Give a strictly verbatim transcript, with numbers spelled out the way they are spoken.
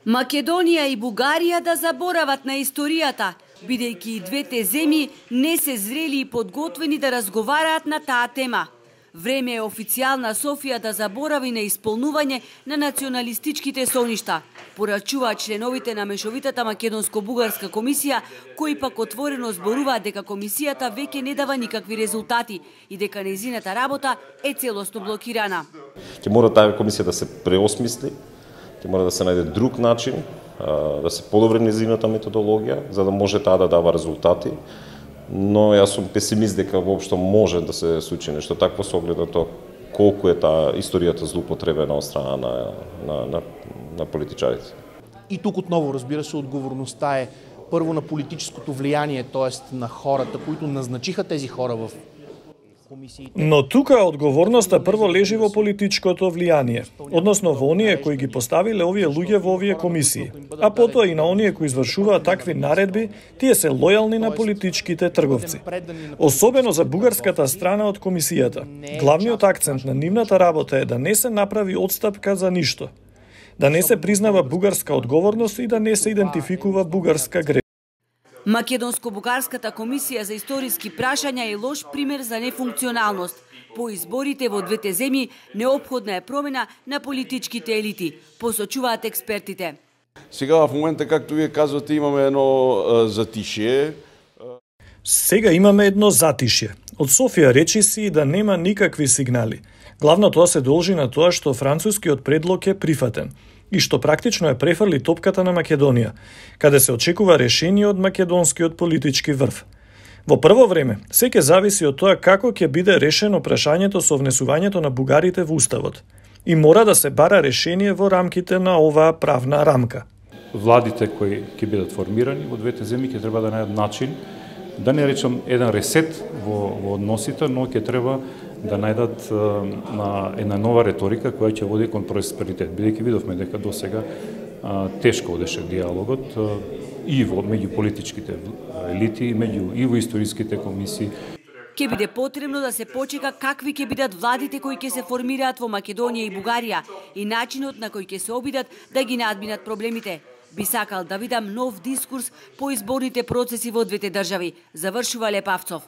Македонија и Бугарија да заборават на историјата, бидејќи и двете земји не се зрели и подготвени да разговараат на таа тема. Време е официјална Софија да заборави на исполнување на националистичките соништа, порачуваат членовите на мешовитата македонско-бугарска комисија, кои пак отворено зборуваат дека комисијата веќе не дава никакви резултати и дека нејзината работа е целосно блокирана. Ќе мора таа комисија да се преосмисли, ќе мора да се најде друг начин, да се подобри нејзината методологија, за да може таа да дава резултати. Но јас сум песимист дека воопшто може да се случи нешто такво со оглед на тоа колку е таа историјата злоупотребена од страна на, на, на, на политичарите. И тук отново, разбира се, отговорността е първо на политическото влияние, т.е. на хората, които назначиха тези хора в комисиите. Но тука одговорноста прво лежи во политичкото влијание, односно во оние кои ги поставиле овие луѓе во овие комисии, а потоа и на оние кои извршуваат такви наредби, тие се лојални на политичките трговци. Особено за бугарската страна од комисијата. Главниот акцент на нивната работа е да не се направи отстапка за ништо, да не се признава бугарска одговорност и да не се идентификува бугарска грешка. Македонско-бугарската комисија за историски прашања е лош пример за нефункционалност. По изборите во двете земји неопходна е промена на политичките елити, посочуваат експертите. Сега в момента, както вие казвате, имаме едно затишие. Сега имаме едно затишје. Од Софија речи си да нема никакви сигнали. Главно тоа се должи на тоа што францускиот предлог е прифатен и што практично е префрли топката на Македонија, каде се очекува решение од македонскиот политички врв. Во прво време, се ќе зависи од тоа како ќе биде решено прашањето со внесувањето на бугарите во Уставот и мора да се бара решение во рамките на оваа правна рамка. Владите кои ќе бидат формирани во двете земји ќе треба да најдат начин, да не речам еден ресет во, во односите, но ќе треба да најдат на една нова реторика која ќе води кон просперитет. Бидејќи видовме дека досега тешко одеше диалогот и во меѓу политичките елити, меѓу и во историските комисии. Ќе биде потребно да се почека какви ќе бидат владите кои ќе се формираат во Македонија и Бугарија и начинот на кој ќе се обидат да ги надминат проблемите. Би сакал да видам нов дискурс по изборните процеси во двете држави, завршува Лепавцов.